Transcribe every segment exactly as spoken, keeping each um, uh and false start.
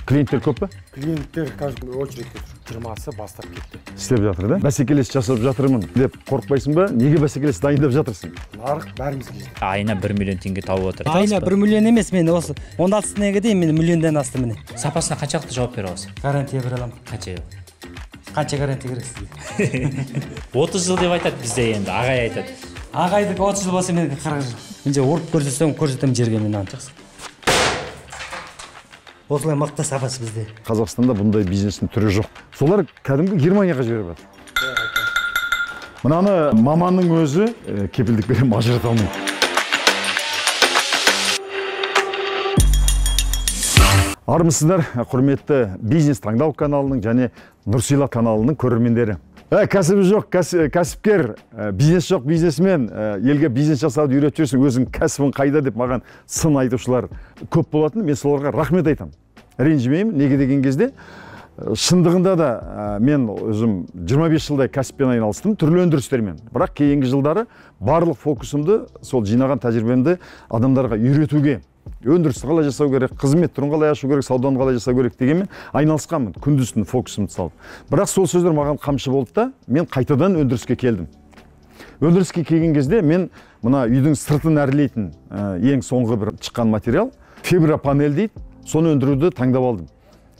Клиенттер көп па? Клиенттер қазір очередьте тұр. жиырмасы бастап кетті. Істеп жатыр да? Бәсекелес жасап жатырмын деп қорықпайсың ба? Неге бәсекелес дайындап жатырсың? Нарық бәрімізге жетеді. Айына бір миллион теңге тауып отыр. Айына бір миллион емес, мен осы он алтысына дейін мен миллиондан асты міне. Сапасына қаншалықты жауап бере аласың? Гарантия бере аламын. Қанша? Қанша гарантия керек сізге? отыз жыл деп айтады бізде енді, ағай айтады. Ағайдікі отыз жыл болса менікі қырық жыл. Мен же ұрып көрсетсем, көрсетемін жерге мен аны. Осылай мықты сапасы бізде. Қазақстанда бұндай бизнестің түрі жоқ. Солар кәдімгі Германияға жіберіп жатыр. Мынаны маманның өзі кепілдік бере ажырата алмайды. Армысыздар, құрметті бизнес таңдау каналының және Нұрсила каналының көрермендері. Кәсібі жоқ, кәсіпкер, бизнес жоқ, бизнесмен, елге бизнес жасауды үйретіп жүрсің, өзің кәсібің қайда деп маған сын айтушылар көп болатын. Мен соларға рахмет айтам. Ренжімеймін, неге деген кезде шындығында да мен өзім жиырма бес жылдай кәсіппен айналыстым, түрлі өндірістермен. Бірақ кейінгі жылдары барлық фокусымды, сол жинаған тәжірибемді адамдарға үйретуге, өндірісті қалай жасау керек, қызмет түрін қалай ашу керек, сауданы қалай жасау керек дегенмен айналысқанмын, күндіз-түні фокусымды салып. Бірақ сол сөздер маған қамшы болды да, мен қайтадан өндіріске келдім. Өндіріске келген кезде мен мына үйдің сыртын әрлейтін ең соңғы бір шыққан материал фибропанель дейді, соны өндіруді таңдап алдым.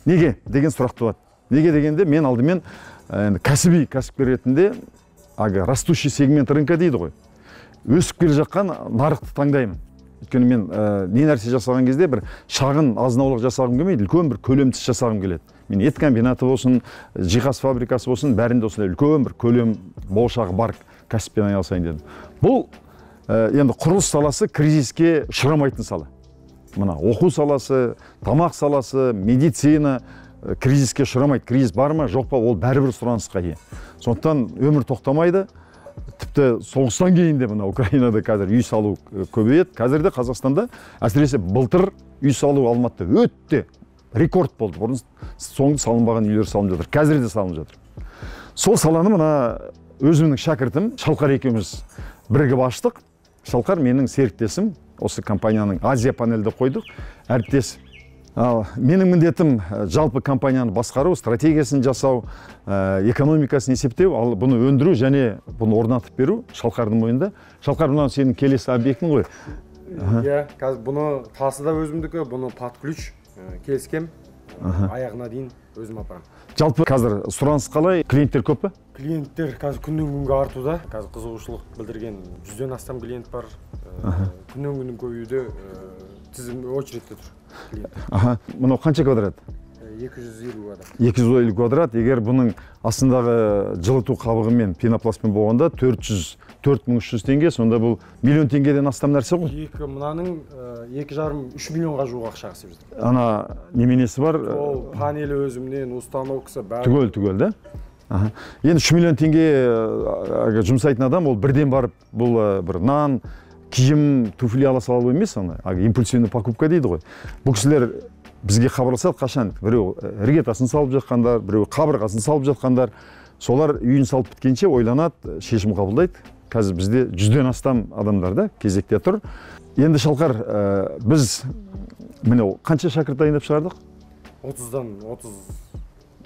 Неге деген сұрақ туады. Неге дегенде мен алдымен кәсіби кәсіпкер ретінде растущий сегмент рынка дейді ғой. Өсіп келе жатқан нарықты таңдаймын. Өйткені мен не нәрсе жасаған кезде бір шағын азынаулық жасағым келмейді, үлкен бір көлемсіз жасағым келеді. Мен ет комбинаты болсын, жиһаз фабрикасы болсын, бәрінде осындай үлкен бір көлем болашағы бар кәсіппен айналысайын дедім. Бұл енді құрылыс саласы кризиске ұшырамайтын сала. Мына оқу саласы, тамақ саласы, медицина кризиске ұшырамайды. Кризис бар ма, жоқ па, ол бәрібір сұранысқа ие. Сондықтан өмір тоқтамайды. Тіпті соғыстан кейін де мына Украинада қазір үй салу көбейеді. Қазірде Қазақстанда әсіресе былтыр үй салу Алматыда өтте рекорд болды. Бұрын соңғы салынбаған үйлер салынып жатыр. Қазір де салынып жатыр. Сол саланы мына өзімнің шәкіртім Шалқар екеуміз бірігіп аштық. Шалқар менің серіктесім. Осы компанияның Азия панельді қойдық. Әріптес. Менің міндетім жалпы компанияны басқару, стратегиясын жасау, экономикасын есептеу, ал бұны өндіру және бұны орнатып беру Шалқардың мойнында. Шалқар, мұнан сенің келесі объектің ғой? Иә, қазір бұны тасы да өзімдікі, бұны под ключ келіскем, аяғына дейін өзім апарам. Жалпы қазір сұраныс қалай? Клиенттер көп па? Клиенттер қазір күннен күнге артуда. Қазір қызығушылық білдірген жүзден астам клиент бар. Күннен күннің көбеюде тізім очередьте тұр. Аха, мұнау қанша квадрат? екі жүз елу квадрат. екі жүз елу квадрат. Егер бұның астындағы жылыту қабығымен, пенопластпен болғанда төрт жүз төрт мың үш жүз теңге, сонда бұл миллион теңгеден астам нәрсе ғой? Екі мынаның екі жарым үш миллионға жуық ақша ақсып жатыр. Ана неменесі бар? Ол панелі өзімнен, установкасы бәрі. Түгел, түгел, да? Аха. Енді үш миллион теңге жұмсайтын адам, ол бірден барып, бұл бір нан, киім, туфли ала салу емес, ана импульсивный покупка дейді ғой. Бұл кісілер бізге хабарласады қашан, біреу іргетасын салып жатқандар, біреу қабырғасын салып жатқандар, солар үйін салып біткенше ойланады, шешім қабылдайды. Қазір бізде жүзден астам адамдар да кезекте тұр. Енді Шалқар, біз міне қанша шәкірт дайындап шығардық? отыздан отыз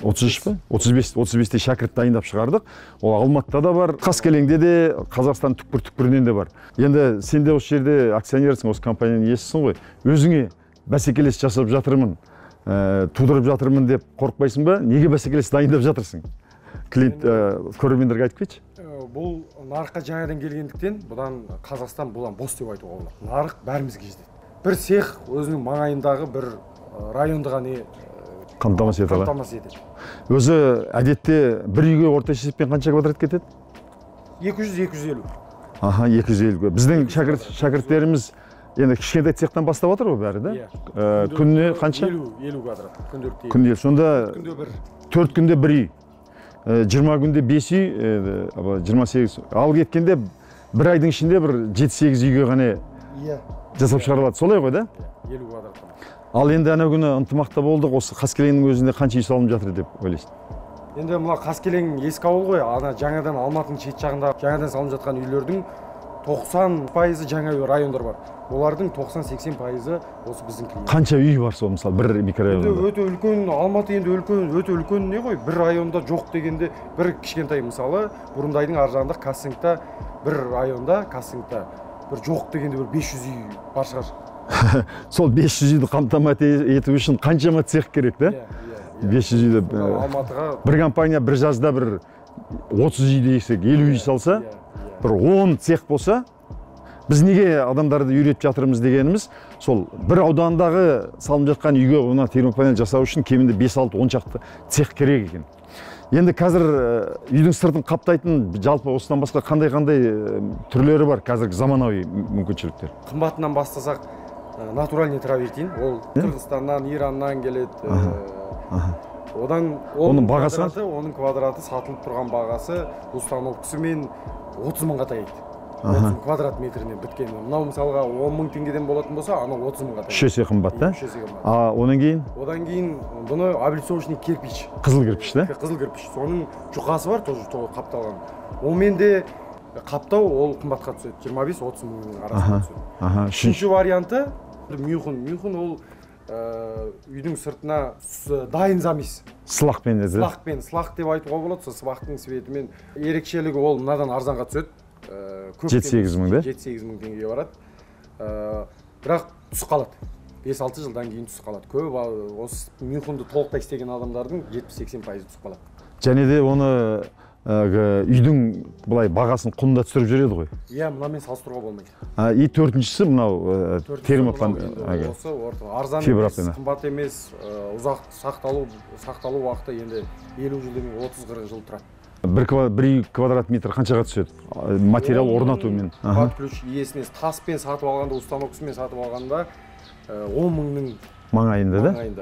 отыз үш па? отыз бес, отыз бесте шәкірт дайындап шығардық. Ол Алматыда да бар, Қаскелеңде де, Қазақстан түкпір-түкпірінен де бар. Енді сен де осы жерде акционерсің, осы компанияның иесісің ғой. Өзіңе бәсекелес жасап жатырмын, тудырып жатырмын деп қорықпайсың ба? Неге бәсекелес дайындап жатырсың? Клиент көрермендерге айтып кетші. Бұл нарыққа жаңадан келгендіктен, бұдан Қазақстан бұдан бос деп айтуға болады. Нарық бәрімізге жетеді. Бір цех өзінің маңайындағы бір районды ғана қамтамасыз етеді. Қамтамасыз етеді. Өзі әдетте бір үйге орташа есеппен қанша квадрат кетеді? екі жүз екі жүз елу. Аха, екі жүз елу. Біздің шәкірттеріміз енді кішкентай цехтан бастап отыр ғой бәрі, да? Күніне қанша? елу квадрат. Күнделікті. Күнде. Сонда күнде бір. төрт күнде бір үй. жиырма күнде бес үй, жиырма сегіз. Ал кеткенде бір айдың ішінде бір жеті сегіз үйге ғана жасап шығарылады. Солай ғой, да? елу квадрат. Ал енді ана күні ынтымақта болдық, осы Қаскелеңнің өзінде қанша үй салынып жатыр деп ойлайсың? Енді мына Қаскелең ескі ауыл ғой, ана жаңадан Алматының шет жағында жаңадан салынып жатқан үйлердің тоқсан пайызы жаңа райондар бар. Олардың тоқсан-сексен пайызы осы біздің клиент. Қанша үй бар сол мысалы бір микрорайонда? Өте үлкен, Алматы енді үлкен, өте үлкен не ғой? Бір районда жоқ дегенде бір кішкентай мысалы, Бұрындайдың ар жағында Кассингта бір районда, Кассингта бір жоқ дегенде бір бес жүз үй бар шығар. Сол бес жүз үйді қамтамасыз ету үшін қаншама цех керек, да? бес жүз үйді Алматыға бір компания бір жазда бір отыз үй десек, елу үй салса, бір он цех болса, біз неге адамдарды үйретіп жатырмыз дегеніміз, сол бір аудандағы салынып жатқан үйге ona термопанель жасау үшін кемінде бес алты он шақты цех керек екен. Енді қазір үйдің сыртын қаптайтын жалпы осыдан басқа қандай-қандай түрлері бар қазіргі заманауи мүмкіншіліктер? Қымбатынан бастасақ, натуральный травертин, ол Қырғызстаннан, Ираннан келеді. Одан оның бағасы, оның квадраты сатылып тұрған бағасы установкасымен отыз мыңға таяйды. отыз квадрат метрінен біткен. Мынау мысалға он мың теңгеден болатын болса, анау отыз мыңға таяйды. үш есе қымбат, да? үш есе қымбат. А одан кейін? Одан кейін бұны облицовочный кирпич. Қызыл кірпіш, да? Қызыл кірпіш. Соның жұқасы бар, тоже қапталған. Онымен де қаптау ол қымбатқа түседі. жиырма бес отыз мыңның арасында түседі. Үшінші варианты мюхун. Мюхун ол үйдің сыртына дайын замес. Сылақпен еді? Сылақпен. Сылақ деп айтуға болады. Сылақтың светімен ерекшелігі ол мынадан арзанға түседі. жеті-сегіз мың, да? жеті-сегіз мың теңгеге барады. Бірақ түс қалады. бес алты жылдан кейін түс қалады. Көп осы мюхунды толықтай істеген адамдардың жетпіс-сексен пайызы түс қалады. Және де оны үйдің былай бағасын құнында түсіріп жүреді ғой? Иә, мынамен салыстыруға болмайды. И төртіншісі мынау термопанель. Осы арзан емес, қымбат емес, ұзақ сақталу уақыты енді елу жыл демей отыз қырық жыл тұрады. бір квадрат метр қаншаға түседі? Материал орнатумен. Под ключ иесіне таспен сатып алғанда, установкасымен сатып алғанда он мыңның маңайында, да? Маңайында.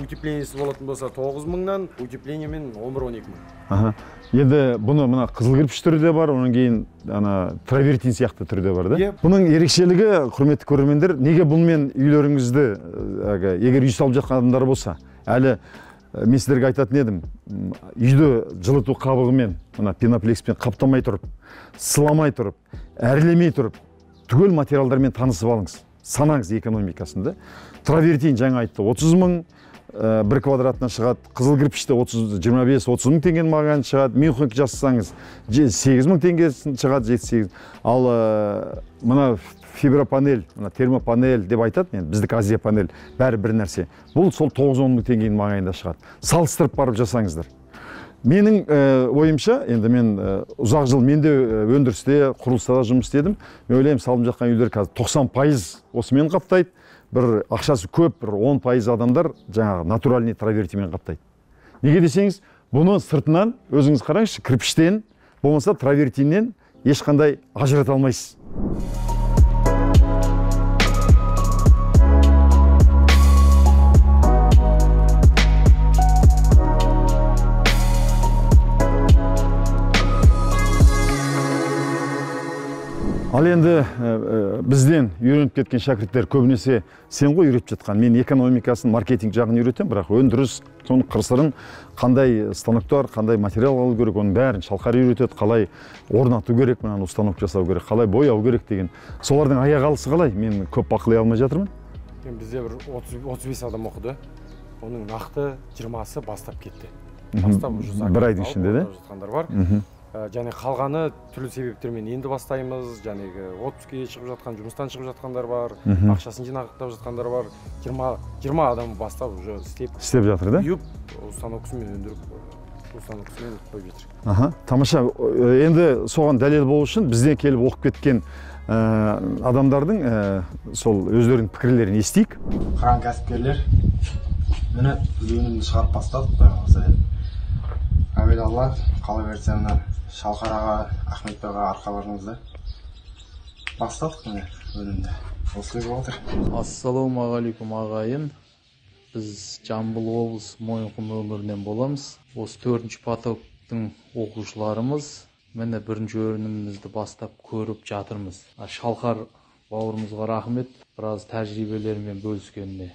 Утеплениясы болатын болса тоғыз мыңнан, утеплениемен он бір он екі мың. Енді бұны мына қызыл кірпіш түрі де бар, онан кейін травертин сияқты түрі де бар, да? Бұның ерекшелігі, құрметті көрермендер, неге бұнымен үйлеріңізді, егер үй салып жатқан адамдар болса, әлі мен сіздерге айтатын едім, үйді жылыту қабығымен, пеноплекспен қаптамай тұрып, сыламай тұрып, әрлемей тұрып, түгел материалдармен танысып алыңыз, санаңыз экономикасында. Травертин жаңа айтты, отыз мың бір квадратынан шығады, қызыл кірпіште жиырма бес отыз мың теңген маған шығады, мюхун жасасаңыз сегіз мың теңгесін шығады, жеті-сегіз. Ал мына фибропанель, термопанель деп айтады, біздік Азия панель, бәрі бір нәрсе. Бұл сол тоғыз-он мың теңгенің маңайында шығады. Салыстырып барып жасаңыздар. Менің ойымша, енді мен ұзақ жыл менде өндірісте, құрылыста жұмыс істедім. Мен ойлаймын, салынып жатқан үйлер қазір тоқсан пайыз осымен қаптайды. Бір ақшасы көп, бір он пайыз адамдар жаңағы натуральный травертинмен қаптайды. Неге десеңіз, бұны сыртынан өзіңіз қараңызшы, кірпіштен, болмаса травертиннен ешқандай ажырата алмайсыз. Ал енді бізден үйреніп кеткен шәкірттер көбінесе сен ғой үйретіп жатқан. Мен экономикасын, маркетинг жағын үйретем, бірақ өндіріс, соның қыр-сырын, қандай станоктар, қандай материал алу керек, оның бәрін Шалқар үйретеді, қалай орнату керек, мынаны установка жасау керек, қалай бояу керек деген. Солардың аяқ алысы қалай? Мен көп бақылай алмай жатырмын. Бізде бір отыз бес адам оқыды. Оның нақты жиырмасы бастап кетті. Бір айдың ішінде, да? Және қалғаны түрлі себептермен енді бастаймыз, және отпускіге шығып жатқан, жұмыстан шығып жатқандар бар, ақшасын жинақтап жатқандар бар. жиырма адам бастап уже істеп істеп жатыр, да? Үйіп, установкасымен өндіріп, установкасымен қойып жатыр. Тамаша. Енді соған дәлел болу үшін бізден келіп оқып кеткен адамдардың сол өздерінің пікірлерін естейік. Қаран кәсіпкерлер міне өнімді шығарып бастадық. Әбелалла, қала берсеңнен Шалқар аға, Ахмет аға арқаларыңызда бастадық міне өнімді. Осы кез отыр. Ассалаумағалейкум ағайын. Біз Жамбыл облысы Мойынқұм өңірінен боламыз. Осы төртінші потоктың оқушыларымыз. Міне бірінші өнімімізді бастап көріп жатырмыз. Шалқар бауырымызға рахмет, біраз тәжірибелерімен бөліскеніне.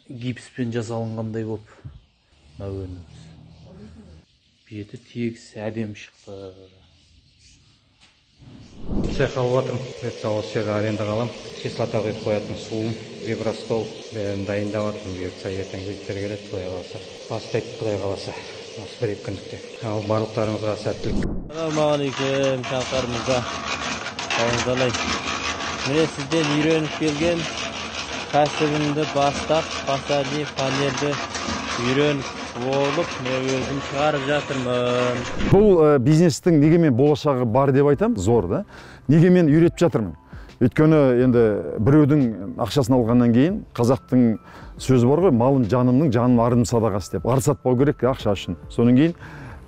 Гипспен жасалынғандай болып өніміміз. Беті тегіс әдем шықты. цех алып жатырмын. Бұйыртса осы жерге арендаға аламын. Кислота құйып қоятын суым, вибростол бәрін дайындап жатырмын. Бұйыртса ертең жігіттер келеді, Құдай қаласа. Бастайды, Құдай қаласа. Осы бір екі күндікте. Ал барлықтарыңызға сәттілік. Ассалаумағалейкум, Шалқар мырза. Қалыңыз. Міне сізден үйреніп келген кәсібімді бастап, фасади панельді үйреніп болып, мен өзім шығарып жатырмын. Бұл бизнестің неге мен болашағы бар деп айтам, зор да. Неге мен үйретіп жатырмын. Өйткені енді біреудің ақшасын алғаннан кейін қазақтың сөзі бар ғой, малым жанымның, жаным арым садағасы деп. Ар сатпау керек ақша үшін. Соның кейін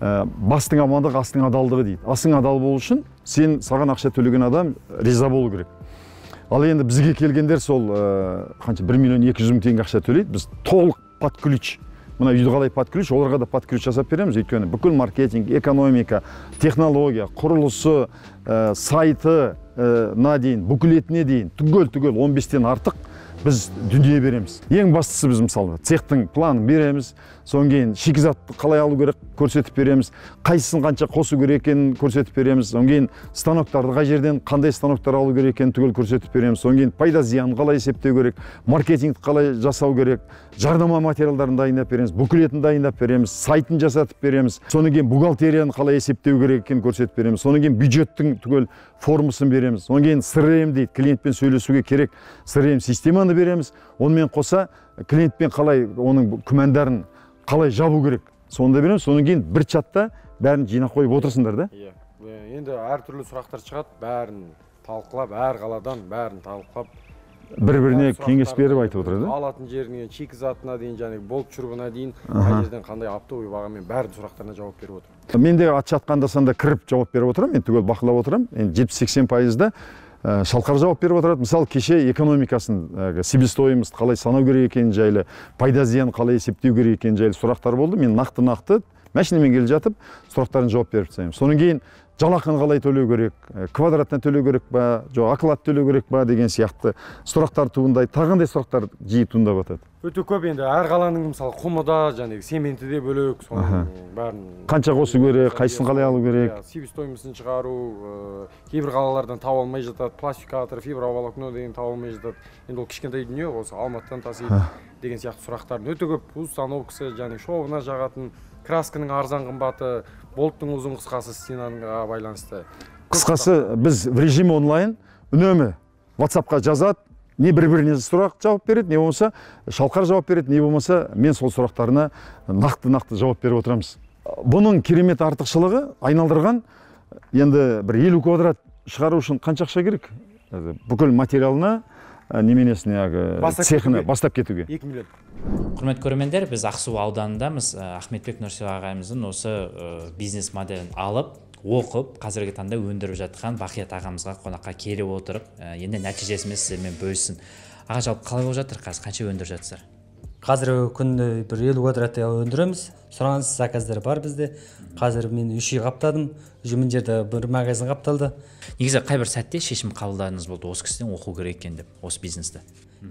бастың амандығы, астың адалдығы дейді. Асың адал болу үшін сен саған ақша төлеген адам риза болу керек. Ал енді бізге келгендер сол қанша бір миллион екі жүз мың теңге ақша төлейді. Біз толық под ключ. Мына үйді қалай под ключ, оларға да под ключ жасап береміз. Өйткені бүкіл маркетинг, экономика, технология, құрылысы, сайты на дейін, бүкілетіне дейін, түгел-түгел он бестен артық біз дүние береміз. Ең бастысы біз мысалы цехтың планын береміз, содан кейін шикізатты қалай алу керек көрсетіп береміз, қайсысын қанша қосу керек екенін көрсетіп береміз, содан кейін станоктарды қай жерден қандай станоктар алу керек екенін түгел көрсетіп береміз, содан кейін пайда зиянын қалай есептеу керек, маркетингті қалай жасау керек, жарнама материалдарын дайындап береміз, бүкілетін дайындап береміз, сайтын жасатып береміз, содан кейін бухгалтерияны қалай есептеу керек екенін көрсетіп береміз, содан кейін бюджеттің түгел формасын береміз, содан кейін си ар эм дейді, клиентпен сөйлесуге керек си ар эм системаны береміз, онымен қоса клиентпен қалай оның күмәндарын қалай жабу керек, соны да береміз, содан кейін бір чатта бәрін жинап қойып отырсыңдар да? Иә. Енді әртүрлі сұрақтар шығады, бәрін талқылап, әр қаладан бәрін талқылап, бір-біріне кеңес беріп айтып отырады. Алатын жеріне, шикізатына дейін, және болып жүргіна дейін, қай жерден қандай оптовый бағамен бәрін сұрақтарына жауап беріп отыр. Мен де ат жатқанда санда кіріп жауап беріп отырам, мен түгел бақылап отырам. Енді жетпіс-сексен пайызда Шалқар жауап беріп отырады. Мысалы, кеше экономикасын, себестоимость қалай санау керек екені жайлы, пайда зиян қалай есептеу керек екені жайлы сұрақтар болды. Мен нақты-нақты машинамен келе жатып сұрақтарын жауап беріп тастаймын. Содан кейін жалақыны қалай төлеу керек, квадратына төлеу керек па, жоқ оклад төлеу керек па деген сияқты сұрақтар туындайды. Тағандай сұрақтар жиі туындап жатады. Өте көп енді әр қаланың мысалы құмы да, және цементі де бөлек, соның бәрін қанша қосу керек, қайсысын қалай алу керек, себестоимостьын шығару, кейбір қалалардан таба алмай жатады, пластификатор, фиброволокно деген таба алмай жатады. Енді ол кішкентай дүние, осы Алматыдан тасиды деген сияқты сұрақтардың өте көп. Установкасы, және шовына жағатын, красканың арзан қымбаты, болттың ұзын қысқасы стенаға байланысты. Қысқасы біз в режим онлайн үнемі WhatsApp-қа жазады, не бір-біріне сұрақ жауап береді, не болмаса Шалқар жауап береді, не болмаса мен сол сұрақтарына нақты-нақты жауап беріп отырамыз. Бұның керемет артықшылығы айналдырған, енді бір елу квадрат шығару үшін қанша ақша керек? Бүкіл материалына, неменесіне, цехына бастап кетуге. екі миллион. Құрметті көрермендер, біз Ақсу ауданындамыз. Ахметбек Нұрсила ағайымыздың осы бизнес моделін алып, оқып, қазіргі таңда өндіріп жатқан Бақият ағамызға қонаққа келіп отырып, енді нәтижесімен сіздермен бөліссін. Аға, жалпы қалай болып жатыр қазір, қанша өндіріп жатсыздар? Қазір күнде бір елу квадраттай өндіреміз. Сұраныс заказдар бар бізде. Қазір мен үш үй қаптадым. Жүмін жерде бір магазин қапталды. Негізі қай бір сәтте шешім қабылдадыңыз болды, осы кісіден оқу керек екен деп, осы бизнесті?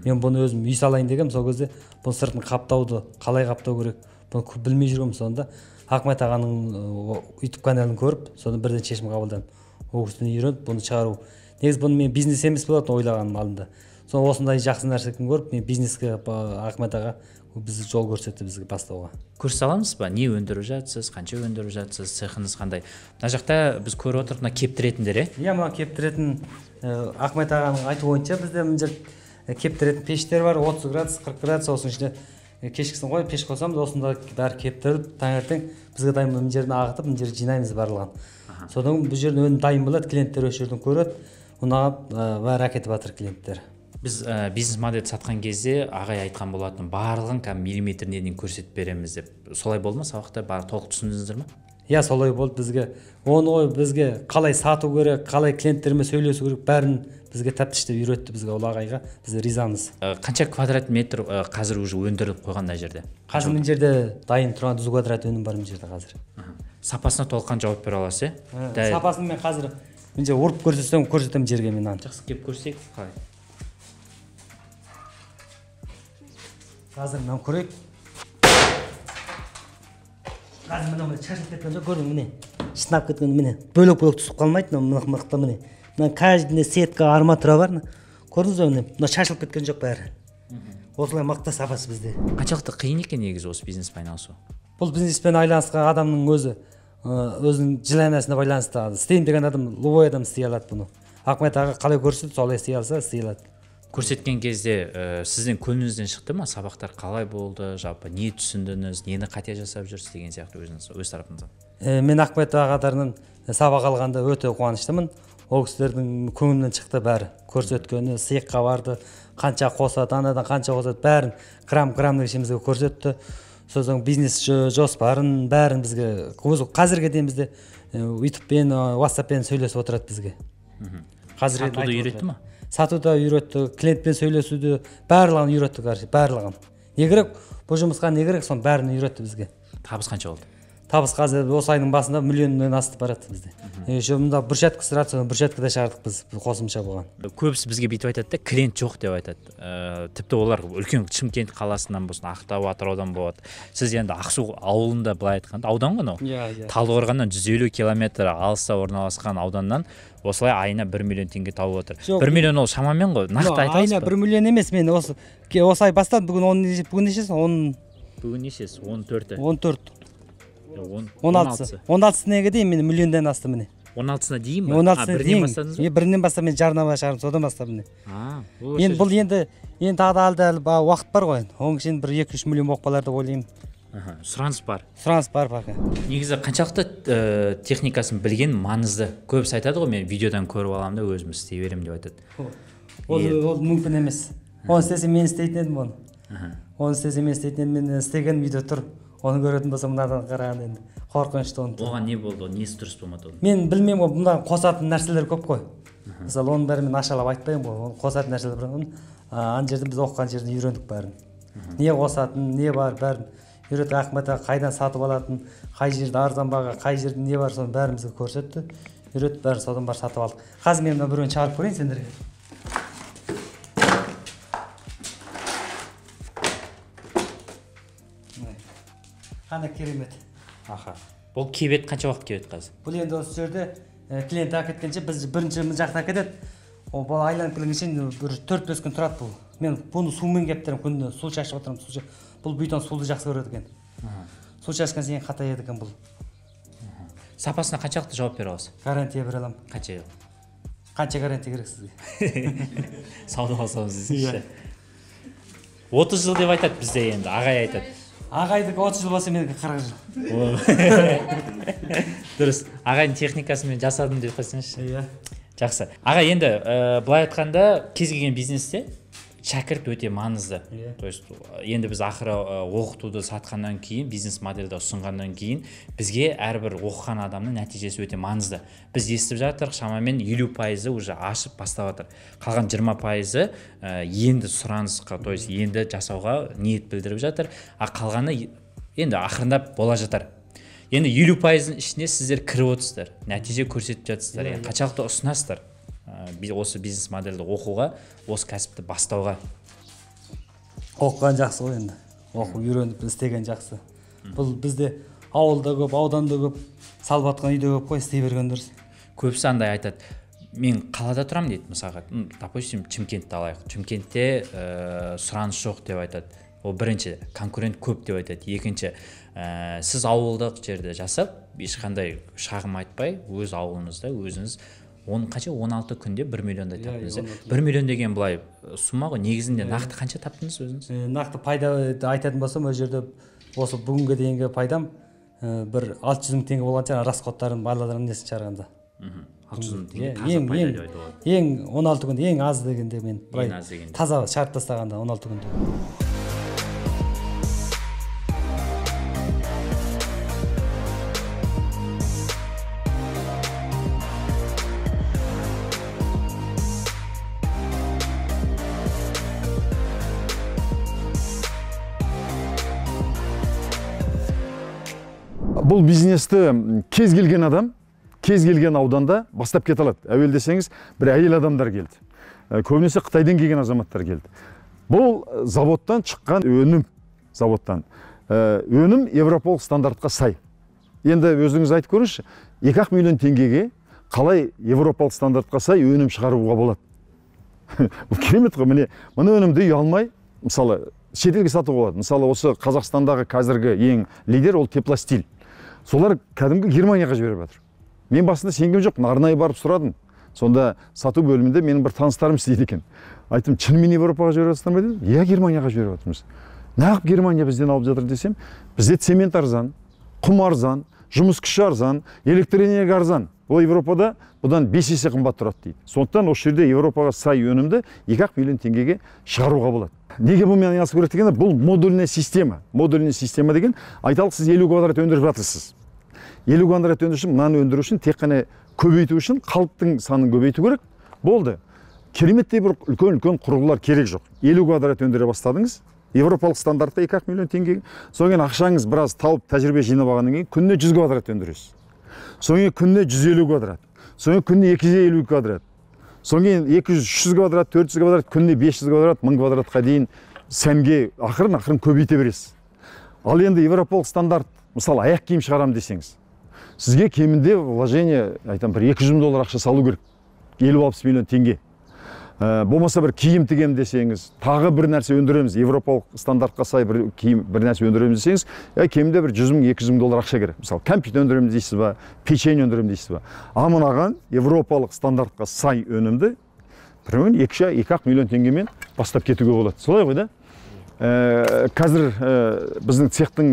Мен бұны өзім үй салайын дегем, сол кезде бұл сыртын қаптауды қалай қаптау керек, бұны білмей жүргем. Сонда Ахмет ағаның YouTube каналын көріп, соны бірден шешім қабылдадым. Ол кісіден үйреніп, бұны шығару. Негізі бұны мен бизнес емес болатын ойлағаным алдында. Соны осындай жақсы нәрсені көріп, мен бизнеске Ахмет аға бізді жол көрсетті бізге бастауға. Көрсете аламыз ба? Не өндіріп жатсыз, қанша өндіріп жатсыз, цехыңыз қандай? Мына жақта біз көріп отырып, мына кептіретіндер, е? Иә, мына кептіретін Ахмет ағаның айтуы бойынша бізде мына жерде кептіретін пештер бар, отыз градус, қырық градус, осының ішінде кешкісін қойып пеш қосамыз, осында бәрі кептіріліп, таңертең бізге дайын мына жерін ағытып, мына жерді жинаймыз барлығын. Содан бұл жердің өнім дайын болады, клиенттер осы жерден көреді, ұнап бәрі әкетіп жатыр клиенттер. Біз бизнес модель сатқан кезде ағай айтқан болатын, барлығын миллиметріне дейін көрсетіп береміз деп. Солай болды ма, сабақта барлық толық түсіндіңіздер ме? Иә, солай болды бізге. Оны ой бізге қалай сату керек, қалай клиенттермен сөйлесу керек, бәрін бізге тәптіштеп үйретті бізге ол ағайға. Біз ризамыз. Қанша квадрат метр қазір уже өндіріліп қойған мына жерде? Қазір мына жерде дайын тұрған жүз квадрат өнім бар мына жерде қазір. Сапасына толыққан жауап бере аласыз, е? Сапасын мен қазір мына жерде ұрып көрсетсем, көрсетемін жерге мен аны. Жақсы, кеп көрсек, қалай? Қазір мен көрейік. Қазір мына мына шашылып кеткен жоқ, көрдің міне. Шынап кеткен міне. Бөлек-бөлек түсіп қалмайды, мына мықты міне. мына каждый сетка арматура бар. Көрдіңіз бе, мына шашылып кеткен жоқ бәрі. Осылай мықты сапасы бізде. Қаншалықты қиын екен негізі осы бизнеспен айналысу? Бұл бизнеспен айналысқан адамның өзі өзінің желаниясына байланысты. Істеймін деген адам, любой адам істей алады бұны. Ахмет аға қалай көрсетті, солай істей алса істей алады. Көрсеткен кезде сіздің көңіліңізден шықты ма? Сабақтар қалай болды? Жалпы не түсіндіңіз, нені қате жасап жүрсіз деген сияқты өзіңіз өз тарапыңыздан? Мен Ахмет ағаларынан сабақ алғанда өте қуаныштымын. Ол кісілердің көңілінен шықты бәрі. Көрсеткені, сыйыққа барды, қанша қосады, анадан қанша қосады, бәрін грамм-граммдық ішімізге көрсетті. Сосын бизнес жоспарын бәрін бізге қазірге дейін бізде ютубпен, ватсаппен сөйлесіп отырады бізге. Сатуды үйретті ма? Сатуды үйретті, клиентпен сөйлесуді барлығын үйретті, қаршы, барлығын. Не керек, бұл жұмысқа не керек, соның бәрін үйретті бізге. Табыс қанша болды? Табыс қазір осы айдың басында миллионнан асты барады бізде. Мында брусчатка сырады, соны брусчаткада шығардық біз қосымша болған. Көбісі бізге бүйтіп айтады да, клиент жоқ деп айтады. Тіпті олар үлкен Шымкент қаласынан болсын, Ақтау, Атыраудан болады. Сіз енді Ақсу ауылында былай айтқанда, аудан ғой мынау. Талдықорғаннан жүз елу километр алыста орналасқан ауданнан осылай айына бір миллион теңге тауып отыр. бір миллион ол шамамен ғой, нақты айтасыз ба? Айына бір миллион емес, мен осы осы ай бастады, бүгін бүгін нешесі? Бүгін нешесі? он төрті. он төрт. он алтысы. он алтысына дейін мен миллиондан асты міне. он алтысына дейін ба? он алтысына дейін бастадыңыз ба? Бірінен бастап мен жарнама шығардым, содан бастап міне. Мен бұл енді енді тағы да әлі уақыт бар ғой. Оның үшін бір екі үш миллион болып қалар деп ойлаймын. Сұраныс бар. Сұраныс бар пока. Негізі қаншалықты техникасын білген маңызды. Көбісі айтады ғой, мен видеодан көріп аламын да өзім істей беремін деп айтады. Ол мүмкін емес. Оны істесем мен істейтін едім оны. Оны істесем мен істейтін едім, мен істеген видео тұр. Оны көретін болсам мынадан қараған енді қорқынышты оны. Оған не болды? Несі дұрыс болмады? Мен білмеймін ғой, бұнда қосатын нәрселер көп қой. Мысалы оның бәрін мен ашалап айтпаймын ғой. Оны қосатын нәрселер бар. Ана жерде біз оқыған жерде үйрендік бәрін. Не қосатын, не бар бәрін үйретті. Ахмет аға қайдан сатып алатын, қай жерде арзан баға, қай жерде не бар, соны бәрін бізге көрсетті. Үйретті, бәрін содан бар сатып алдық. Қазір мен мына біреуін шығарып көрейін сендерге. Қандай керемет. Аха. Бұл кебет қанша уақыт кебет қазір? Бұл енді осы жерде клиент әкеткенше біз бірінші жақта әкетеді. Ол бұл айланып келгенше бір төрт бес күн тұрады бұл. Мен бұны сумен кептірем, күнде су шашып отырамын, су шашып. Бұл бүйттен суды жақсы көреді екен. Су шашқан сайын қатаяды екен бұл. Сапасына қаншалықты жауап бере аласыз? Гарантия бере аламын. Қанша? Қанша гарантия керек сізге? Сауда алсаңыз десеңізші. отыз жыл деп айтады бізде енді, ағай айтады. Ағайдікі отыз жыл болса менікі қырық жыл. Дұрыс. Ағайдың техникасымен жасадым деп қойсаңызшы. Иә. Жақсы. Аға, енді былай айтқанда кез келген бизнесте шәкірт өте маңызды. То есть енді біз ақыры оқытуды сатқаннан кейін, бизнес модельді ұсынғаннан кейін бізге әрбір оқыған адамның нәтижесі өте маңызды. Біз естіп жатырық, шамамен елу пайызы уже ашып бастап жатыр. Қалған жиырма пайызы енді сұранысқа, то есть енді жасауға ниет білдіріп жатыр. А қалғаны енді ақырындап бола жатыр. Енді елу пайыздың ішіне сіздер кіріп отырсыздар, нәтиже көрсетіп жатсыздар. Енді қаншалықты ұсынасыздар осы бизнес модельді оқуға, осы кәсіпті бастауға? Оқыған жақсы ғой енді. Оқу үйреніп істеген жақсы. Бұл бізде ауылда көп, ауданда көп, салып атқан үйде көп қой, істей берген дұрыс. Көбісі андай айтады, мен қалада тұрам дейді, мысалға, допустим, Шымкентті алайық. Шымкентте сұраныс жоқ деп айтады. Ол бірінші, конкурент көп деп айтады. Екінші, сіз ауылдық жерде жасап, ешқандай шағым айтпай, өз ауылыңызда өзіңіз он қанша он алты күнде бір миллиондай таптыңыз. бір миллион деген былай сума ғой. Негізінде нақты қанша таптыңыз өзіңіз? Нақты пайда айтатын болсам, ол жерде осы бүгінге дейінгі пайдам бір алты жүз мың теңге болған шығар, расходтарын барлығын несін шығарғанда. алты жүз мың теңге таза пайда деп айтуға болады. Ең он алты күнде ең аз дегенде мен былай таза шарт тастағанда он алты күнде. Бұл бизнесті кез келген адам, кез келген ауданда бастап кете алады. Әуел десеңіз, бір әйел адамдар келді. Көбінесе Қытайдан келген азаматтар келді. Бұл заводтан шыққан өнім, заводтан. Өнім Европалық стандартқа сай. Енді өзіңіз айтып көріңізші, екі ақ миллион теңгеге қалай европалық стандартқа сай өнім шығаруға болады. Бұл керемет қой. Міне мына өнімді үй алмай мысалы шетелге сатуға болады. Мысалы осы Қазақстандағы қазіргі ең лидер ол Теплостиль. Солар кәдімгі Германияға жіберіп жатыр. Мен басында сенгем жоқ, арнайы барып сұрадым. Сонда сату бөлімінде менің бір таныстарым істейді екен. Айттым, шынымен Европаға жіберіп жатсыңдар ма дедім. Иә, Германияға жіберіп жатырмыз. Неғып Германия бізден алып жатыр десем, бізде цемент арзан, құм арзан, жұмыс күші арзан, электроэнергия арзан. Ол Европада бұдан бес есе қымбат тұрады дейді. Сондықтан осы жерде Европаға сай өнімді екі ақ миллион теңгеге шығаруға болады. Неге бұнымен айналысу керек дегенде, бұл модульная система. Модульная система деген, айталық сіз елу квадрат өндіріп жатырсыз. елу квадрат өндіру үшін, мынаны өндіру үшін тек қана көбейту үшін қалыптың санын көбейту керек. Болды. Кереметтей бір үлкен-үлкен құрылғылар керек жоқ. елу квадрат өндіре бастадыңыз. Европалық стандартта екі ақ миллион теңге. Соңын ақшаңыз біраз тауып тәжірибе жинап алғаннан кейін күніне жүз квадрат өндіресіз. Соңын күніне жүз елу квадрат. Соңын күніне екі жүз елу квадрат. Соңын екі жүз, үш жүз квадрат, төрт жүз квадрат, күніне бес жүз квадрат, мың квадратқа дейін сәнге ақырын-ақырын көбейте бересіз. Ал енді европалық стандарт, мысалы аяқ киім шығарам десеңіз, сізге кемінде вложение, айтам, бір екі жүз мың доллар ақша салу керек. елу алпыс миллион теңге. Болмаса бір киім тігем десеңіз, тағы бір нәрсе өндіреміз, европалық стандартқа сай бір киім, бір нәрсе өндіреміз десеңіз, кемінде бір жүз мың, екі жүз мың доллар ақша керек. Мысалы, компьютер өндіреміз дейсіз ба, печенье өндіреміз дейсіз ба. А мынаған европалық стандартқа сай өнімді біреуін екі ақ миллион теңгемен бастап кетуге болады. Солай ғой да? Қазір біздің цехтың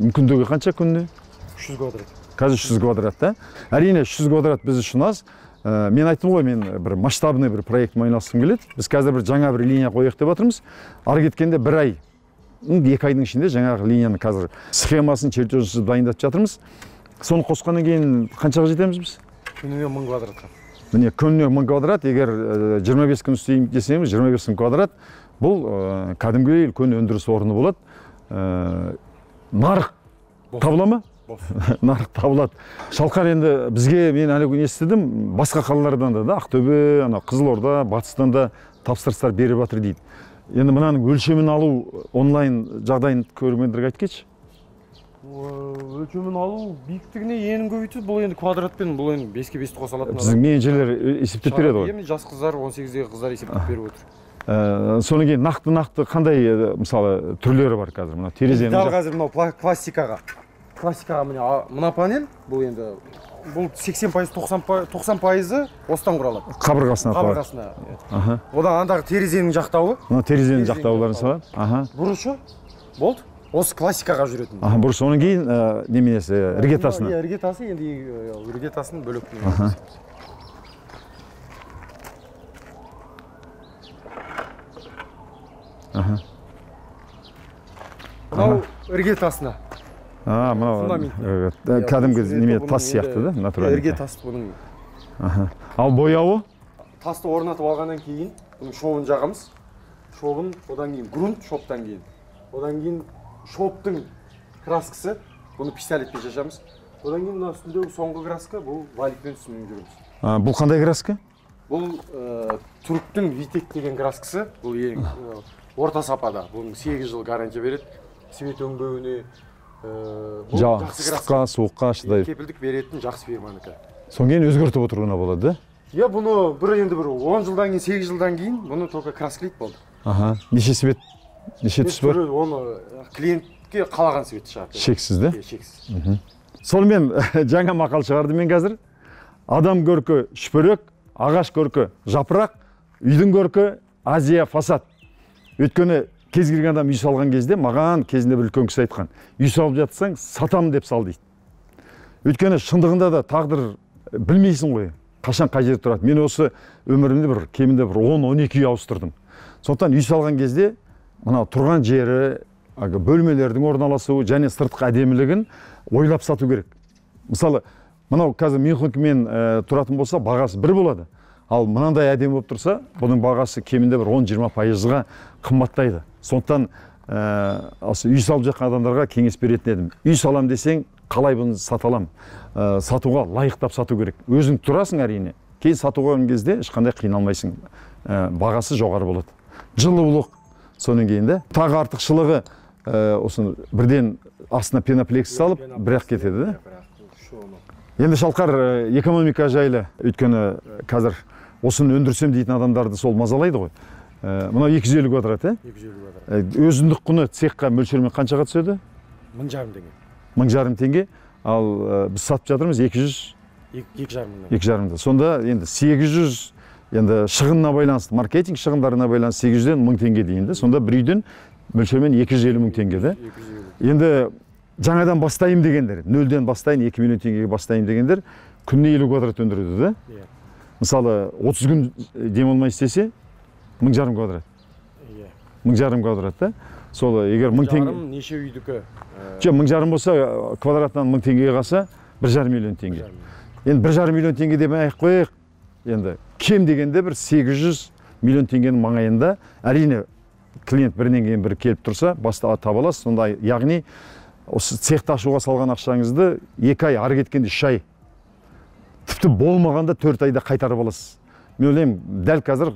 мүмкіндігі қанша күніне? үш жүз квадрат. Қазір үш жүз квадрат, да? Әрине үш жүз квадрат біз үшін аз. Мен айттым ғой, мен бір масштабный бір проектіме айналысқым келеді. Біз қазір бір жаңа бір линия қояйық деп жатырмыз. Ары кеткенде бір ай, екі айдың ішінде жаңағы линияны қазір схемасын, чертежін дайындап жатырмыз. Соны қосқаннан кейін қаншаға жетеміз біз? Күніне мың квадратқа. Міне күніне мың квадрат, егер жиырма бес күн істеймін десеңіз, жиырма бес мың квадрат, бұл кәдімгі үлкен өндіріс орны болады. Нарық табыла ма? Нарық табылады. Шалқар енді бізге, мен әлі күн естідім, басқа қалалардан да, Ақтөбе, Қызылорда, Батыстан да тапсырыстар беріп жатыр дейді. Енді мынаның өлшемін алу онлайн жағдайын көрермендерге айтып кетші. Өлшемін алу биіктігіне енін көбейтеді. Бұл енді квадратпен, бұл енді беске бесті қоса алатын. Біздің менеджерлер есептеп береді ғой. Енді жас қыздар, он сегіздегі қыздар есептеп беріп отыр. Соны кейін нақты-нақты қандай мысалы түрлері бар қазір? Мына терезенің. Дәл қазір мынау пластикаға. Классикаға мына панель, бұл енді бұл сексен пайыз, тоқсан пайызы осыдан құралады. Қабырғасына қалады. Қабырғасына. Одан андағы терезенің жақтауы. Мына терезенің жақтауларын салады. Бұрышы болды. Осы классикаға жүретін. Бұрышы, оның кейін неменесі, іргетасына. Іргетасы енді іргетасын бөлек. Мынау іргетасына. А, мынау кәдімгі неме тас сияқты да, натуральный. Ірге тас бұның. Ал бояуы? Тасты орнатып алғаннан кейін, бұның шовын жағамыз. Шовын, одан кейін грунт, шоптан кейін. Одан кейін шоптың краскасы, бұны пистолетпен шашамыз. Одан кейін мына үстіндегі соңғы краска, бұл валикпен үстімен жүреміз. Бұл қандай краска? Бұл түріктің Витек деген краскасы, бұл ең орта сапада. Бұның сегіз жыл гарантия береді. Свет өңбеуіне, ыстыққа, суыққа шыдайды. Кепілдік беретін жақсы фирманікі. Соң кейін өзгертіп отыруына болады, да? Иә, бұны бір енді бір он жылдан кейін, сегіз жылдан кейін бұны только красклейді болды. Аха, неше свет, неше түс бар? Оны клиентке қалаған светті шығарды. Шексіз, да? Шексіз. Сонымен жаңа мақал шығарды мен қазір. Адам көркі шүпірек, ағаш көркі жапырақ, үйдің көркі Азия фасад. Өйткені кез келген адам үй салған кезде маған кезінде бір үлкен кісі айтқан, үй салып жатсаң сатам деп сал дейді. Өйткені шындығында да тағдыр білмейсің ғой, қашан қай жерде тұрады. Мен осы өмірімде бір кемінде бір он он екі үй ауыстырдым. Сондықтан үй салған кезде мына тұрған жері, бөлмелердің орналасуы және сыртқы әдемілігін ойлап сату керек. Мысалы, мынау қазір Мюнхенмен тұратын болса, бағасы бір болады. Ал мынандай әдемі болып тұрса, бұның бағасы кемінде бір он жиырма пайызға қымбаттайды. Сондықтан осы үй салып жатқан адамдарға кеңес беретін едім. Үй салам десең, қалай бұны саталам? Сатуға лайықтап сату керек. Өзің тұрасың әрине. Кейін сатуға кезде ешқандай қиналмайсың. Бағасы жоғары болады. Жылулық соның кейінде. Тағы артықшылығы осы бірден астына пеноплекс салып, бірақ кетеді, да? Енді Шалқар экономика жайлы, өйткені қазір осыны өндірсем дейтін адамдарды сол мазалайды ғой. Мынау екі жүз елу квадрат, ә? екі жүз елу квадрат. Өзіндік құны цехқа мөлшермен қаншаға түседі? мың жарым теңге. мың жарым теңге. Ал біз сатып жатырмыз екі жүз екі жарым мың. екі жарымда. Сонда енді сегіз жүз, енді шығынына байланысты, маркетинг шығындарына байланысты сегіз жүзден мың теңге дейінді. Сонда бір үйден мөлшермен екі жүз елу мың теңге де. Енді жаңадан бастайым дегендер, нөлден бастайын екі миллион теңгеге бастайым дегендер күніне елу квадрат өндіреді де. Мысалы отыз күн демалмай істесе мың жарым квадрат. мың жарым квадрат да. Сол егер мың теңге неше үйдікі? Жоқ, мың жарым болса квадратынан мың теңгеге қалса бір жарым миллион теңге. Енді бір жарым миллион теңге демей ақ қояйық. Енді кем дегенде бір сегіз жүз миллион теңгенің маңайында, әрине клиент бірінен кейін бірі келіп тұрса, баста таба аласыз. Сонда яғни осы цехты ашуға салған ақшаңызды екі ай, ары кеткенде үш ай, тіпті болмағанда төрт айда қайтарып аласыз. Мен ойлаймын, дәл қазір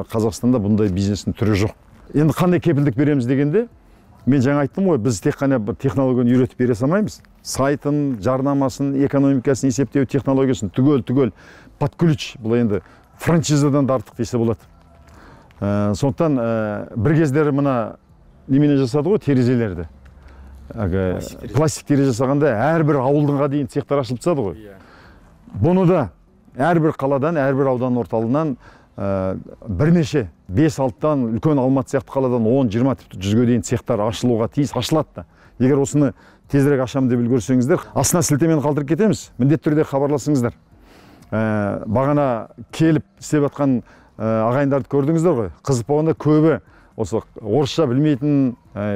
Қазақстанда бұндай бизнестің түрі жоқ. Енді қандай кепілдік береміз дегенде, мен жаңа айттым ғой, біз тек қана бір технологияны үйретіп бере салмаймыз. Сайтын, жарнамасын, экономикасын есептеу технологиясын түгел-түгел под ключ, бұл енді франшизадан да артық десе болады. Сондықтан бір кездері мына немене жасады ғой, терезелерді. Пластик терезе жасағанда әрбір ауылдыңға дейін цехтар ашылып тастады ғой. Бұны да әрбір қаладан, әрбір аудан орталығынан бірнеше бес алтыдан үлкен Алматы сияқты қаладан он жиырма тіпті жүзге дейін цехтар ашылуға тиіс, ашылады да. Егер осыны тезірек ашамын деп үлгерсеңіздер, астына сілтемені қалдырып кетеміз, міндетті түрде хабарласыңыздар. Бағана келіп істеп жатқан ағайындарды көрдіңіздер ғой. Қызық болғанда көбі осы орысша білмейтін,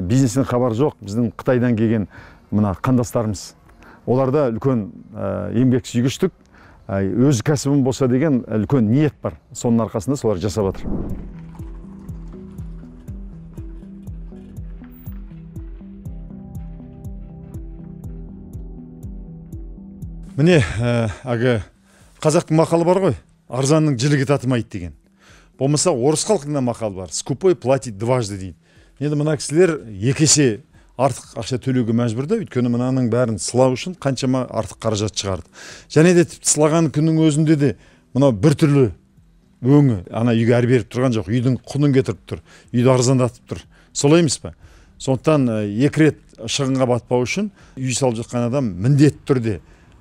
бизнестен хабар жоқ, біздің Қытайдан келген мына қандастарымыз. Оларда үлкен еңбек сүйгіштік, өз кәсібім болса деген үлкен ниет бар. Соның арқасында солар жасап жатыр. Міне, әгі қазақтың мақалы бар ғой, арзанның жілігі татымайды деген. Болмаса орыс халқында мақал бар, скупой платит дважды дейді. Енді мына кісілер екі есе артық ақша төлеуге мәжбүрді, өйткені мынаның бәрін сылау үшін қаншама артық қаражат шығарды. Және де тіпті сылаған күннің өзінде де мынау бір түрлі өңі, ана үйге әр беріп тұрған жоқ, үйдің құнын кетіріп тұр, үйді арзандатып тұр. Солай емес пе? Сондықтан екі рет шығынға батпау үшін үй салып жатқан адам міндетті түрде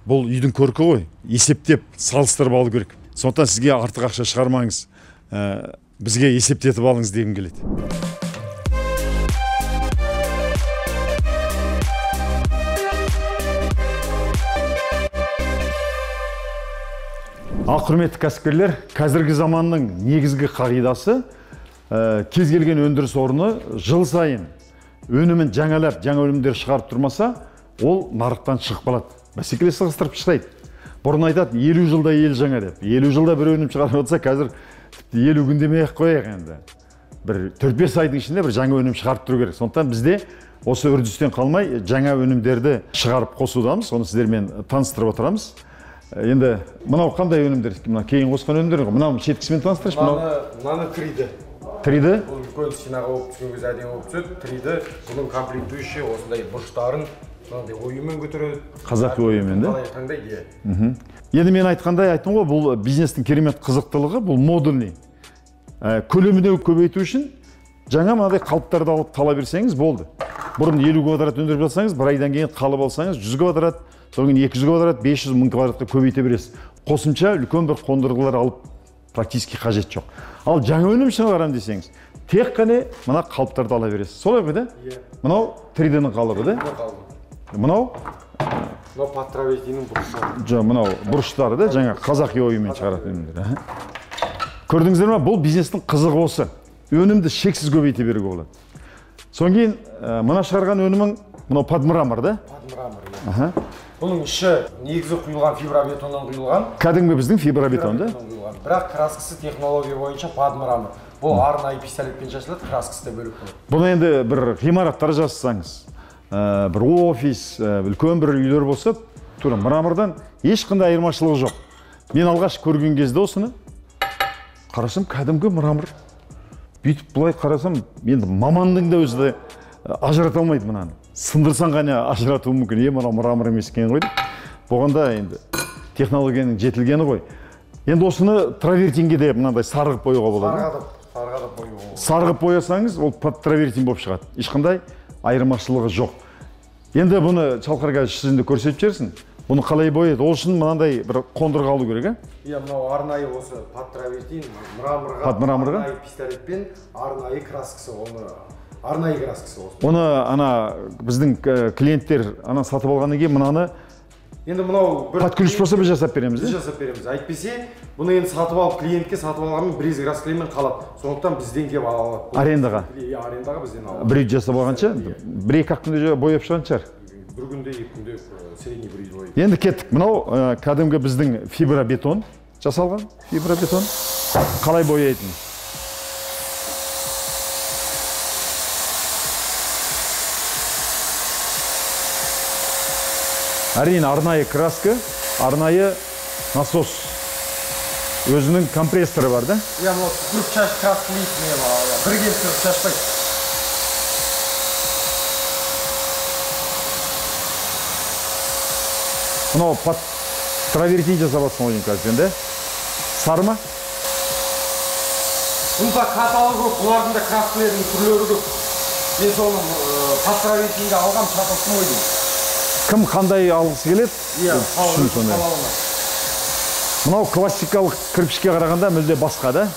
бұл үйдің көркі ғой, есептеп салыстырып алу керек. Сондықтан сізге артық ақша шығармаңыз, бізге есептетіп алыңыз дегім келеді. Ал құрметті кәсіпкерлер, қазіргі заманның негізгі қағидасы кез келген өндіріс орны жыл сайын өнімін жаңалап, жаңа өнімдер шығарып тұрмаса, ол нарықтан шығып қалады. Бәсекелес сығыстырып шығайды. Бұрын айтады, елу жылда ел жаңа деп. елу жылда бір өнім шығарып отырса, қазір елу күн демей ақ қояйық енді. Бір төрт бес айдың ішінде бір жаңа өнім шығарып тұру керек. Сондықтан бізде осы үрдістен қалмай жаңа өнімдерді шығарып қосудамыз. Соны сіздермен таныстырып отырамыз. Енді мынау қандай өнімдер? Мына кейін қосқан өнімдер ғой. Мынау шеткісімен таныстыршы. Мынаны триді. Триді? Бұл үлкен стенаға болып түскен кезде әдемі болып түседі. Триді, бұның комплектующий осындай бұрыштарын мынандай оюмен көтереді. Қазақи оюмен, да? Қалай таңдайды. Енді мен айтқандай айттым ғой, бұл бизнестің керемет қызықтылығы, бұл модульный. Көлеміне көбейту үшін жаңа мынадай қалыптарды алып тала берсеңіз болды. Бұрын елу квадрат өндіріп жатсаңыз, бір айдан кейін қалып алсаңыз жүз квадрат, содан кейін екі жүз квадрат, бес жүз мың квадратқа көбейте бересіз. Қосымша үлкен бір қондырғылар алып практически қажет жоқ. Ал жаңа өнім шығарам десеңіз, тек қана мына қалыптарды ала бересіз. Солай ғой да? Мынау три дэ-ның қалыбы да? Мынау Мынау патравездінің бұрыштары. Жоқ, мынау бұрыштары да, жаңа қазақи оюмен шығаратын өнімдер. Көрдіңіздер ме? Бұл бизнестің қызығы осы. Өнімді шексіз көбейте беруге болады. Содан кейін мына шығарған өнімің мынау подмрамор да? Подмрамор. Бұның іші негізі құйылған фибробетоннан құйылған. Кәдімгі біздің фибробетон да? Бірақ краскасы технология бойынша подмрамор. Бұл арнайы пистолетпен жасалады, краскасы да бөлек болады. Бұны енді бір ғимараттар жасасаңыз, бір офис, үлкен бір үйлер болса, тура мрамордан ешқандай айырмашылығы жоқ. Мен алғаш көрген кезде осыны қарасам, кәдімгі мрамор. Бүйтіп бұлай қарасам, енді мамандың да өзі де ажырата алмайды мынаны. Сындырсан ғана ажыратуы мүмкін. Е, мынау мрамор емес екен ғой деп. болғанда енді технологияның жетілгені ғой. Енді осыны травертинге де мынандай сарғып бояуға болады. Сарғадып, сарғадып бояуға. Сарғып боясаңыз, ол травертин болып шығады. Ешқандай айырмашылығы жоқ. Енді бұны Шалқарға сізді көрсетіп жерсің. Бұны қалай бояды? Ол үшін мынандай бір қондырғы алу керек, а? Иә, мынау арнайы осы паттравертин, мраморға, Пат мраморға? арнайы пистолетпен арнайы краскасы, оны арнайы краскасы осы. Оны ана біздің клиенттер ана сатып алғаннан кейін мынаны енді мынау бір пат ключ болса біз жасап береміз, біз жасап береміз. Әйтпесе, бұны енді сатып алып клиентке сатып алғанмен бірез краскілермен қалады. Сондықтан бізден келіп ала алады. Арендаға. Иә, арендаға бізден алады. Бір үй жасап алғанша, бір-екі ақ күнде бояп шығатын шығар. Бір күнде, екі күнде средний бір үй бояйды. Енді кеттік. Мынау кәдімгі біздің фибробетон жасалған. Фибробетон қалай бояйтын? Әрине, арнайы краска, арнайы насос. Өзінің компрессоры бар, да? Иә, мынау түкіріп шаш краскілейді, бір келіп тұрып шашпайды. Мынау пат травертин жасап жатсың ғой қазір, да? Сары ма? Бұнда каталог көп, бұлардың да краскілердің түрлері көп. Мен соны пат травертинді алғам, шатылсын ойдым. Кім қандай алғысы келеді? Иә, қалауына. Мынау классикалық кірпішке қарағанда мүлде басқа, да?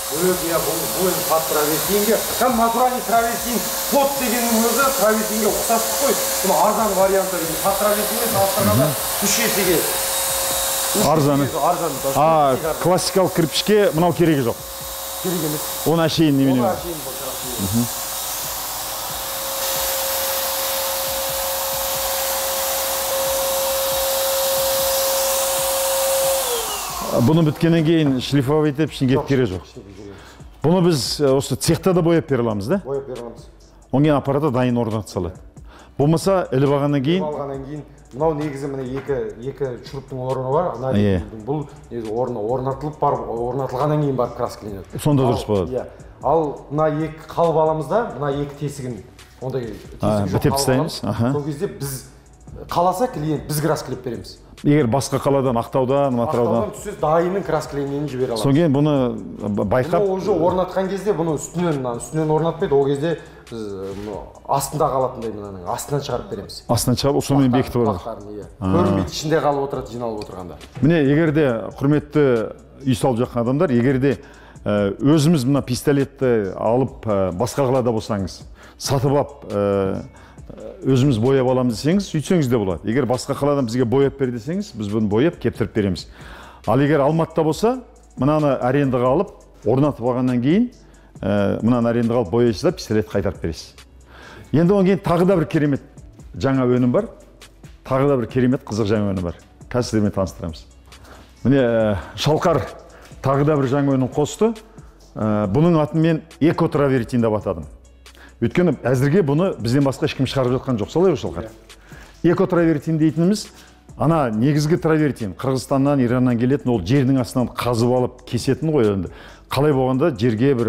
Бұл иә, бұл пат травертинге, кәм натуральный травертин пот дегеннің өзі травертинге ұқсастық қой. Бұны арзан варианты деген пат травертинге салыстырғанда үш есеге. Арзаны. А, классикалық кірпішке мынау керегі жоқ. Керек емес. Оны әшейін немене. Оны әшейін бұл Бұны біткеннен кейін шлифовать етіп ішін кетіп керек жоқ. Бұны біз осы цехта да бояп бере аламыз, да? Бояп бере аламыз. Оң кейін аппараты дайын орнатып салады. Болмаса іліп алғаннан кейін алғаннан кейін мынау негізі міне екі екі шуруптың орны бар. Бұл негізі орны орнатылып барып орнатылғаннан кейін барып краскіленеді. Сонда дұрыс болады. Иә. Ал мына екі қалып аламыз да, мына екі тесігін ондай тесігі жоқ тастаймыз. Сол кезде біз қаласа клиент біз краскілеп береміз. Егер басқа қаладан, Ақтаудан, Атыраудан Ақтаудан түссе дайынның краскіленгенін жібере аламыз. Соң кейін бұны байқап, Бұны уже орнатқан кезде бұны үстінен үстінен орнатпайды, ол кезде біз астында қалатындай мынаның астынан шығарып береміз. Астынан шығарып, сонымен бекітіп алады. Көрінбейді, ішінде қалып отырады, жиналып отырғанда. Міне, егер де құрметті үй салып жатқан адамдар, егер де өзіміз мына пистолетті алып басқа қалада болсаңыз, сатып алып өзіміз бояп аламыз десеңіз, сөйтсеңіз де болады. Егер басқа қаладан бізге бояп бер десеңіз, біз бұны бояп кептіріп береміз. Ал егер Алматыда болса, мынаны арендаға алып, орнатып алғаннан кейін, мынаны арендаға алып бояйсыз да пистолет қайтарып бересіз. Енді одан кейін тағы да бір керемет жаңа өнім бар. Тағы да бір керемет қызық жаңа өнім бар. Қазір сіздермен таныстырамыз. Міне Шалқар тағы да бір жаңа өнім қосты. Бұның атын мен экотравертин деп атадым. Өйткені әзірге бұны бізден басқа ешкім шығарып жатқан жоқ, солай ғой Шалқар? Экотравертин дейтініміз, ана негізгі травертин Қырғызстаннан, Ираннан келетін, ол жердің астынан қазып алып кесетін ғой енді. Қалай болғанда жерге бір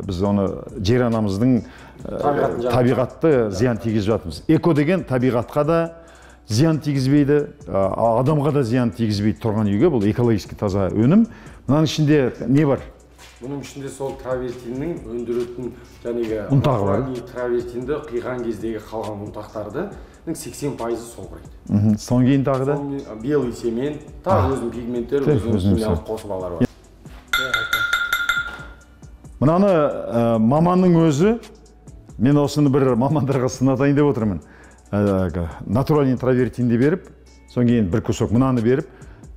біз оны жер анамыздың табиғатты зиян тигізіп жатырмыз. Эко деген табиғатқа да зиян тигізбейді, адамға да зиян тигізбейді тұрған үйге, бұл экологически таза өнім. Мынаның ішінде не бар? Бұның ішінде сол травертиннің өндіретін жәнегі ұнтағы бар. Травертинді қиған кездегі қалған ұнтақтарды сексен пайызы сол құрайды. Соң кейін тағы да? Белый семен, тағы өзінің пигменттері, өзінің химиялық қосылалары бар. Мынаны маманның өзі, мен осыны бір мамандарға сынатайын деп отырмын. Натуральный травертинді беріп, соң кейін бір кусок мынаны беріп,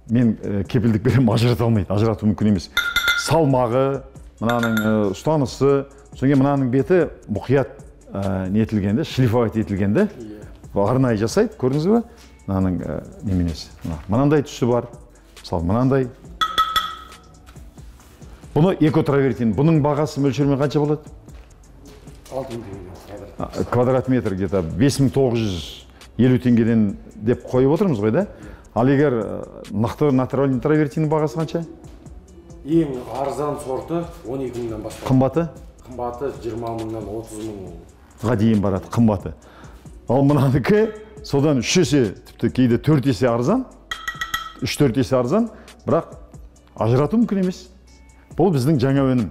мен кепілдік берем, ажырата алмайды, ажырату мүмкін емес. Салмағы, мынаның ұстанысы, соң кейін мынаның беті мұқият нетілгенде, шлифовать етілгенде, арнайы жасайды, көрдіңіз бе? Мынаның неменесі. Мынандай түсі бар, мысалы мынандай. Бұны экотравертин, бұның бағасы мөлшермен қанша болады? алты мың теңге. Квадрат метр где-то бес мың тоғыз жүз елу теңгеден деп қойып отырмыз ғой, да? Ал егер нақты натуральный травертиннің бағасы қанша? Ең арзан сорты он екі мыңнан басталады. Қымбаты? Қымбаты жиырма мыңнан отыз мыңға дейін барады, қымбаты. Ал мынанікі содан үш есе, тіпті кейде төрт есе арзан. үш төрт есе арзан, бірақ ажырату мүмкін емес. Бұл біздің жаңа өнім.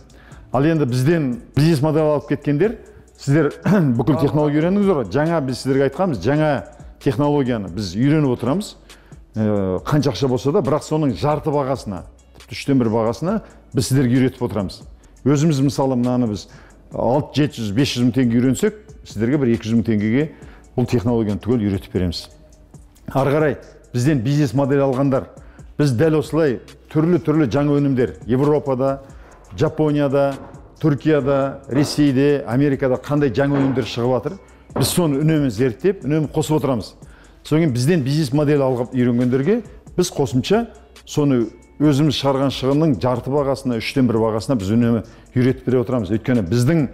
Ал енді бізден бизнес модель алып кеткендер, сіздер бүкіл технология үйрендіңіздер ғой. Жаңа біз сіздерге айтқанбыз, жаңа технологияны біз үйреніп отырамыз. Қанша ақша болса да, бірақ соның жарты бағасына, үштен бір бағасына біз сіздерге үйретіп отырамыз. Өзіміз мысалы мынаны біз алты жеті жүз бес жүз мың теңге үйренсек, сіздерге бір екі жүз мың теңгеге бұл технологияны түгел үйретіп береміз. Ары қарай бізден бизнес модель алғандар, біз дәл осылай түрлі-түрлі жаңа өнімдер Европада, Жапонияда, Түркияда, Ресейде, Америкада қандай жаңа өнімдер шығып жатыр, біз соны үнемі зерттеп, үнемі қосып отырамыз. Содан бізден бизнес модель алып үйренгендерге біз қосымша соны өзіміз шығарған шығынның жарты бағасына, үштен бір бағасына біз үнемі үйретіп бере отырамыз. Өйткені біздің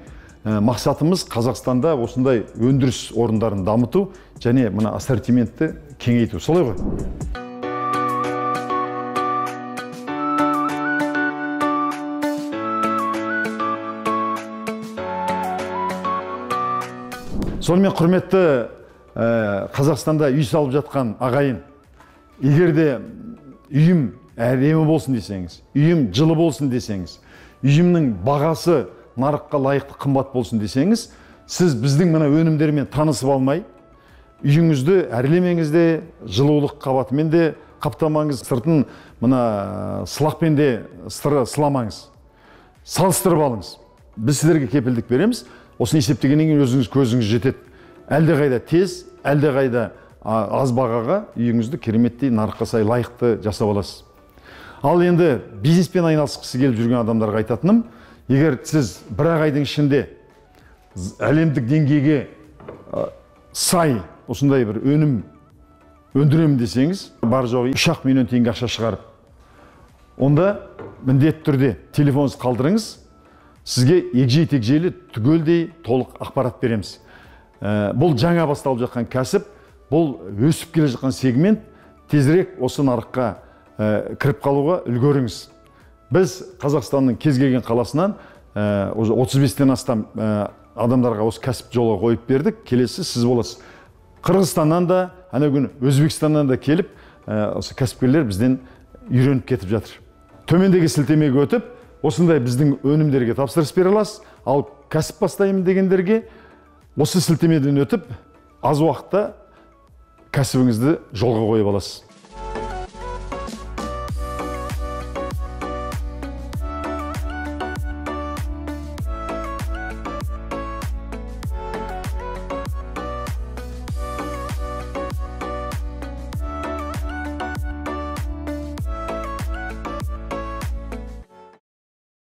мақсатымыз Қазақстанда осындай өндіріс орындарын дамыту және мына ассортиментті кеңейту. Солай ғой? Сонымен құрметті Қазақстанда үй салып жатқан ағайын, егер де үйім әдемі болсын десеңіз, үйім жылы болсын десеңіз, үйімнің бағасы нарыққа лайықты қымбат болсын десеңіз, сіз біздің мына өнімдермен танысып алмай, үйіңізді әрлемеңіз де, жылулық қабатымен де қаптамаңыз, сыртын мына сылақпен де сыламаңыз. Салыстырып алыңыз. Біз сіздерге кепілдік береміз. Осыны есептегеннен кейін өзіңіз көзіңіз жетеді. Әлде қайда тез, әлде қайда аз бағаға үйіңізді кереметтей нарыққа сай лайықты жасап аласыз. Ал енді бизнеспен айналысқысы келіп жүрген адамдарға айтатыным, егер сіз бір ақ айдың ішінде әлемдік деңгейге сай осындай бір өнім өндіремін десеңіз, бар жоғы үш ақ миллион теңге ақша шығарып, онда міндетті түрде телефоныңызды қалдырыңыз, сізге егжей-тегжейлі түгелдей толық ақпарат береміз. Бұл жаңа басталып жатқан кәсіп, бұл өсіп келе жатқан сегмент, тезірек осы нарыққа кіріп қалуға үлгеріңіз. Біз Қазақстанның кез келген қаласынан отыз бестен астам адамдарға осы кәсіп жолға қойып бердік. Келесі сіз боласыз. Қырғызстаннан да, ана күні Өзбекстаннан да келіп, осы кәсіпкерлер бізден үйреніп кетіп жатыр. Төмендегі сілтемеге өтіп, осындай біздің өнімдерге тапсырыс бере аласыз. Ал кәсіп бастаймын дегендерге осы сілтемеден өтіп, аз уақытта кәсібіңізді жолға қойып аласыз.